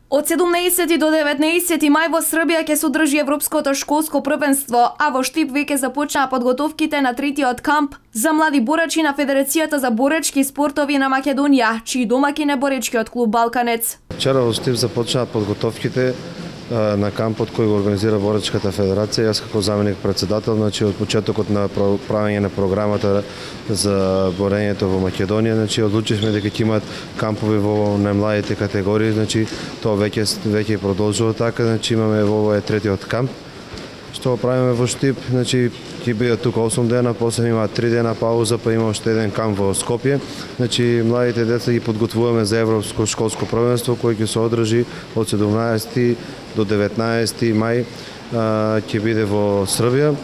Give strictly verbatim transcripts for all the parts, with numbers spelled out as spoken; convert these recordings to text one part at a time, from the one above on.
Од седумнаесети до деветнаесети мај во Србија ќе се одржи Европското школско првенство, а во Штип веќе започнаа подготовките на третиот камп за млади борачи на Федерацијата за боречки спортови на Македонија, чии домаќин е боречкиот клуб Балканец. Вчера во Штип започнаа подготовките на кампот кој го организира Боречката федерација. Јас како заменик председател, значи од почетокот на правење на програмата за борењето во Македонија, значи одлучивме дека ќе имаат кампови во најмладите категории, значи тоа веќе веќе продолжува така, значи имаме во овој третиот камп што го правиме во Штип, значи ќе биде тука осум дена, после има три дена пауза, па има уште еден камп во Скопје. Значи младите деца ги подготвуваме за Европско школско првенство кој ќе се одржи од седумнаесети до деветнаесети мај, ќе биде во Србија.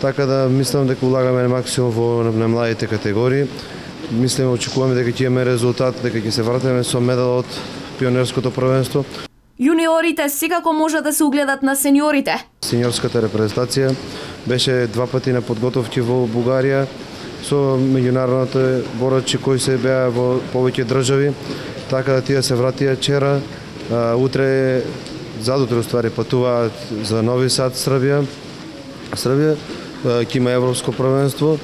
Така да мислам дека улагаме максимум во на младите категории. Мислиме, очекуваме дека ќе имаме резултат, дека ќе се вратиме со медал од пионерското првенство. Јуниорите секако можат да се угледат на сениорите. Сениорската репрезентација беше два пати на подготовки во Бугарија со меѓународните борачи кои се беа во повеќе држави, така да тие се вратија вчера. Утре, задутре ствари патуваат за Нови Сад, Србија. Србија ќе има Европско првенство,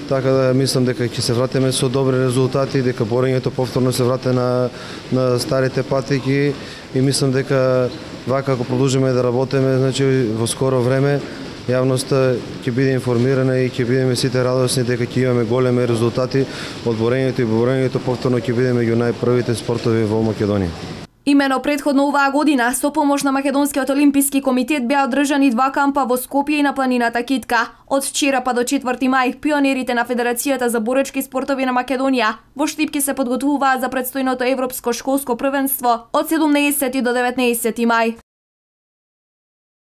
така да мислам дека ќе се вратиме со добри резултати, дека борењето повторно се врате на на старите патеки и мислам дека вака ако продолжиме да работиме, значи во скоро време јавноста ќе биде информирана и ќе бидеме сите радосни дека ќе имаме големи резултати од борењето и борењето повторно ќе биде меѓу најпрвите спортови во Македонија. Имено претходно оваа година, со помош на Македонскиот олимписки комитет беа одржани два кампа во Скопје и на планината Китка. Од вчера па до четврти мај, пионерите на Федерацијата за боречки спортови на Македонија во Штип ќе се подготвуваат за претстојното Европско школско првенство од седумнаесети до деветнаесети мај.